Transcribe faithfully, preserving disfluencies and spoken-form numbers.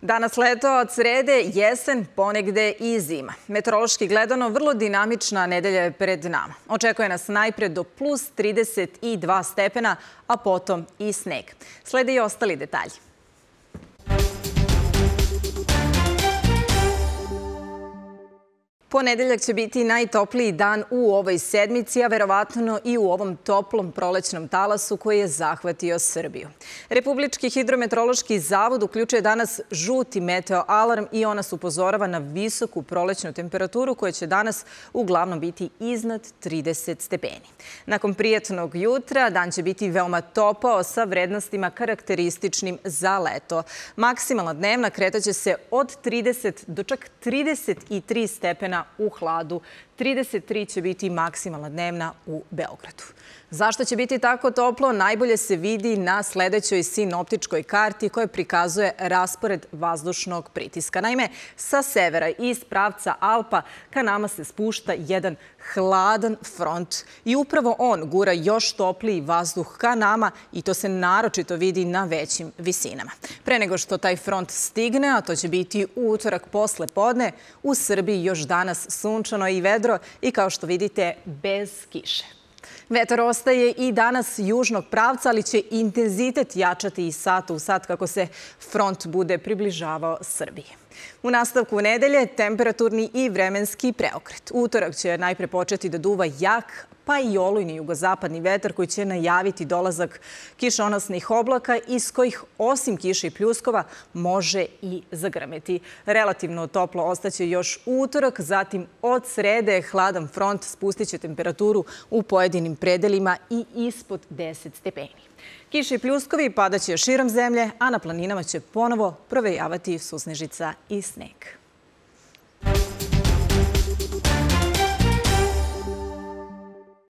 Danas leto, od srede jesen, ponegde i zima. Meteorološki gledano, vrlo dinamična nedelja je pred nama. Očekuje nas najpre do plus trideset dva stepena, a potom i sneg. Slede i ostali detalji. Ponedeljak će biti najtopliji dan u ovoj sedmici, a verovatno i u ovom toplom prolećnom talasu koji je zahvatio Srbiju. Republički hidrometeorološki zavod uključuje danas žuti meteo alarm i ona se upozorava na visoku prolećnu temperaturu koja će danas uglavnom biti iznad trideset stepeni. Nakon prijatnog jutra dan će biti veoma topao sa vrednostima karakterističnim za leto. Maksimalna dnevna kretaće se od trideset do čak trideset tri stepena u hladu. trideset tri će biti maksimalna dnevna u Beogradu. Zašto će biti tako toplo, najbolje se vidi na sledećoj sinoptičkoj karti koja prikazuje raspored vazdušnog pritiska. Naime, sa severa i iz pravca Alpa ka nama se spušta jedan hladan front i upravo on gura još topliji vazduh ka nama i to se naročito vidi na većim visinama. Pre nego što taj front stigne, a to će biti u utorak posle podne, u Srbiji još danas sunčano i vedro i kao što vidite bez kiše. Vetar ostaje i danas južnog pravca, ali će intenzitet jačati iz sata u sat kako se front bude približavao Srbiji. U nastavku nedelje temperaturni i vremenski preokret. Utorak će najpre početi da duva jak, pa i olujni jugozapadni vetar koji će najaviti dolazak kišonosnih oblaka iz kojih osim kiše i pljuskova može i zagrmeti. Relativno toplo ostaće još utorak, zatim od srede hladan front spustit će temperaturu u pojedinim predelima i ispod deset stepeni. Kiše i pljuskovi padaće širom zemlje, a na planinama će ponovo provejavati susnežica i sneg.